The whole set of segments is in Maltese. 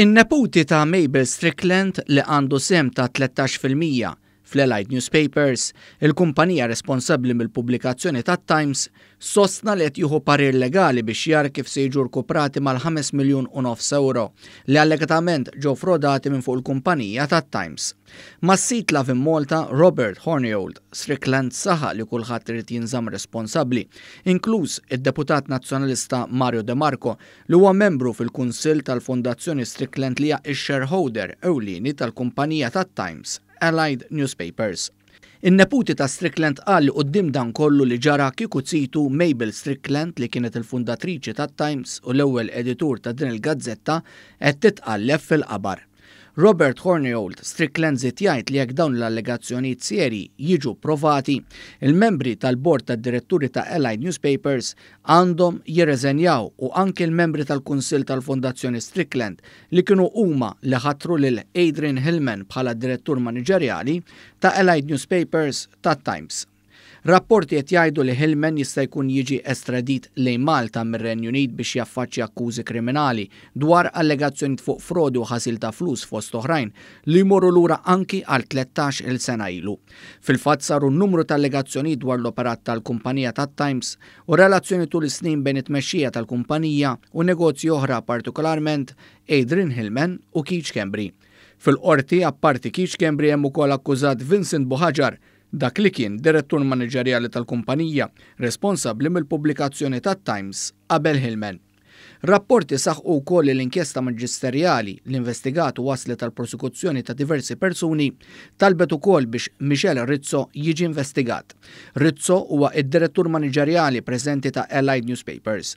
In-neputi ta' Mabel Strickland li għandu sehem ta' 13% fl-Allied Newspapers, il-kumpanija responsabbli mill-pubblikazzjoni tat-Times, sostna li qed jieħu parir legali biex jara kif se jiġu rkuprati mal-5 miljun u nofs ewro li allegatament ġew frodati minn fuq il-kumpanija tat-Times. Mas-sit Lovin Malta, Robert Hornyold Strickland saħaq li kulħadd irid jinżamm responsabbli, inkluż id-deputat Nazzjonalista Mario De Marco li huwa membru fil-Kunsill tal-Fondazzjoni Strickland li hija x-shareholder ewlieni tal-kumpanija tat-Times, Allied Newspapers. In-neputi ta' Strickland qal li quddiem dan kollu li ġara kieku zitu Mabel Strickland li kienet il-fundatriċi tat-Times u l-ewwel editur ta' din il-gazzetta qed titqalleb fil-qabar. Robert Hornyold Strickland żied jgħid li jekk dawn l-allegazzjonijiet serji jiġu pprovati, il-membri tal-bord tad-diretturi ta' Allied Newspapers għandhom jirreżenjaw u anki l-membri tal-Kunsill tal-Fondazzjoni Strickland li kienu huma li ħatru lil Adrian Hillman bħala direttur maniġerjali ta' Allied Newspapers tat-Times. Rapporti qed jgħidu li Hillman jista' jkun jiġi estradit lejn Malta mir-Renju Unit biex jaffaċċja akkużi kriminali dwar allegazzjonijiet fuq frodi u ħasil ta' flus fost oħrajn li jmorru lura anki għal 13-il sena ilu. Fil-fatt saru numru ta' allegazzjonijiet dwar l-operat tal-kumpanija tat-Times u relazzjoni tul is-snin bejn it-tmexxija tal-kumpanija u negozji oħra partikolarment Adrian Hillman u Keith Schembri. Fil-qorti, apparti Keith Schembri hemm ukoll akkużat Vincent Buhagiar, dak li kien direttur maniġerjali tal-kumpanija, responsabbli mill-pubblikazzjoni tat-Times qabel Hillman. Rapporti saħqu wkoll li l-inkjesta maġisterjali li investigat u waslet għal prosekuzzjoni ta' diversi persuni talbet ukoll biex Michel Rizzo jiġi investigat. Rizzo huwa id-direttur maniġerjali preżenti ta' Allied Newspapers.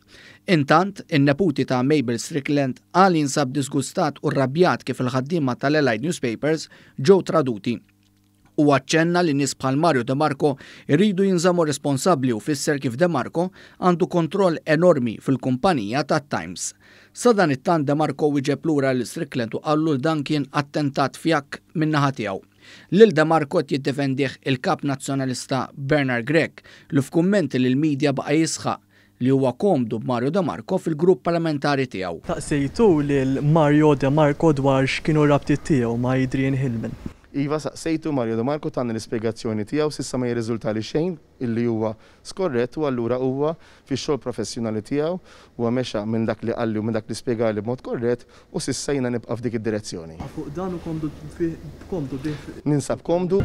Intant, in-neputi ta' Mabel Strickland qal jinsab disgustat u rrabjat kif il-ħaddiema tal-Allied Newspapers ġew traduti. U aċċenna li nies bħal Mario De Marco irridu jinżammu responsabbli u fisser kif De Marco għandu kontroll enormi fil-kumpanija tat-Times. Sadanittant De Marco wieġeb lura lil Strickland u qallu li dan kien attentat fjakk min-naħa tiegħu. Lil De Marco qed jiddefendih il-kap nazzjonalista Bernard Grech li f'kummenti lill-medja baqa' jisħaq li huwa komdu b'Mario De Marco fil-grupp parlamentari tiegħu. Saqsejtu lil Mario De Marco dwar x'kienu r-rabtiet tiegħu ma' Adrian Hillman. Iva, saqsejtu, Mario De Marco tani l-ispjegazzjoni tiegħu, s'issa ma jirriżultali xejn illi huwa skorrett u allura huwa fix-xogħol professjonali tiegħu, huwa mexa minn dak li qalli u minn dak li spjegali b'mod korrett u s'issa jiena nibqa' f'dik id-direzzjoni. Fuq dan u komdu bih, komdu bih. Ninsab komdu.